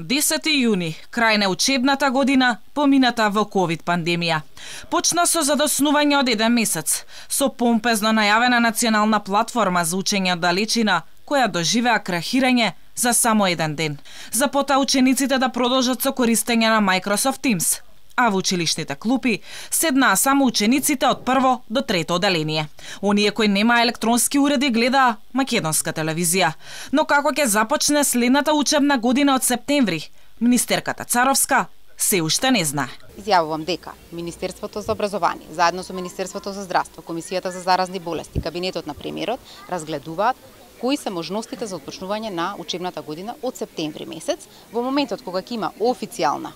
10 јуни, крај на учебната година, помината во ковид пандемија. Почна со задоснување од 1 месец, со помпезно најавена национална платформа за учење од далечина, која доживеа крахирање за само 1 ден. Запота учениците да продолжат со користење на Microsoft Teams, а во училишните клупи седнаа само учениците од 1 до 3 оделение. Оние кои немаа електронски уреди гледаа македонска телевизија. Но како ќе започне следната учебна година од септември, министерката Царовска се уште не знае. Изјавувам дека Министерството за образование, заедно со Министерството за здравство, Комисијата за заразни болести, Кабинетот на премиерот разгледуваат кои се можностите за отпочнување на учебната година од септември месец. Во моментот кога ќе има официјална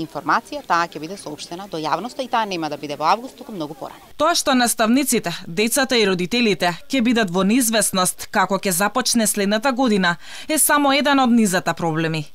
информација, таа ќе биде соопштена до јавноста и таа нема да биде во август, туку многу порано. Тоа што наставниците, децата и родителите ќе бидат во неизвестност како ќе започне следната година е само еден од низата проблеми.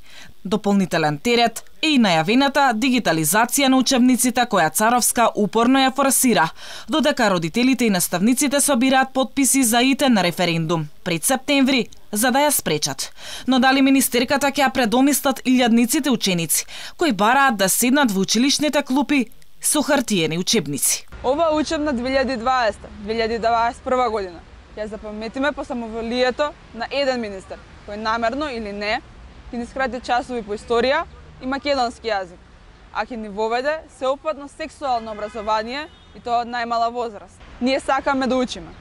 Дополнителен терет е и најавената дигитализација на учебниците која Царовска упорно ја форсира, додека родителите и наставниците собираат потписи за итен референдум пред септември за да ја спречат. Но дали министерката ќе ја предомислат илјадниците ученици кои бараат да седнат во училишните клупи со хартиени учебници? Ова учебна 2020-2021 година ја запаметиме по самоволието на еден министер кој намерно или не ќе ни скрати часови по историја и македонски јазик, а ќе ни воведе сеопфатно сексуално образование и тоа од најмала возраст. Ние сакаме да учиме.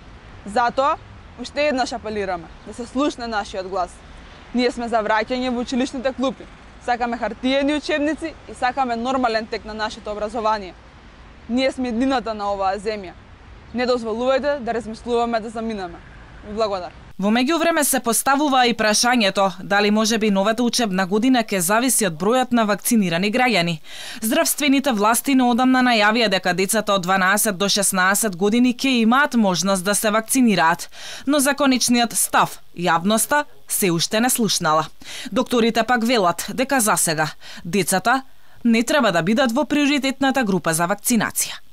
Затоа уште еднаш апелираме да се слушне нашиот глас. Ние сме за враќање во училишните клупи. Сакаме хартиени учебници и сакаме нормален тек на нашето образование. Ние сме еднината на оваа земја. Не дозволувајте да размислуваме да заминеме. Ви благодарам. Во меѓувреме се поставува и прашањето дали можеби новата учебна година ќе зависи од бројот на вакцинирани граѓани. Здравствените власти неодамна најавија дека децата од 12 до 16 години ќе имаат можност да се вакцинираат, но за конечниот став јавноста се уште не слушнала. Докторите пак велат дека засега децата не треба да бидат во приоритетната група за вакцинација.